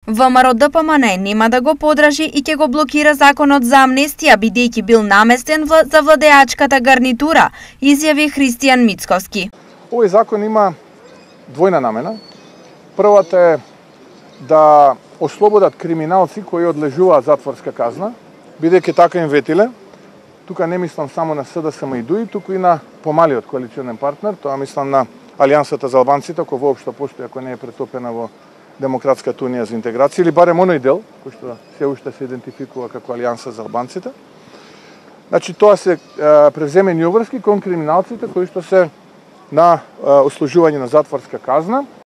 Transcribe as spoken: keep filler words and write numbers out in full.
ВМРО Д П М Н нема да го подражи и ќе го блокира законот за амнестија бидејќи бил наместен за владеачката гарнитура, изјави Христијан Мицковски. Овој закон има двојна намена. Првата е да ослободат криминалци кои одлежуваат затворска казна, бидејќи така им ветиле. Тука не мислам само на С Д С М и ДУИ, туку и на помалиот коалиционен партнер, тоа мислам на Алијансата за албанците, кој воопшто постои, ако не е претопена во Демократската унија за интеграција, или барем оној дел, кој што се уште се идентификува како Алијанса за албанците. Значи, тоа се е, превземени обврски кон криминалците кои што се на е, ослужување на затворска казна.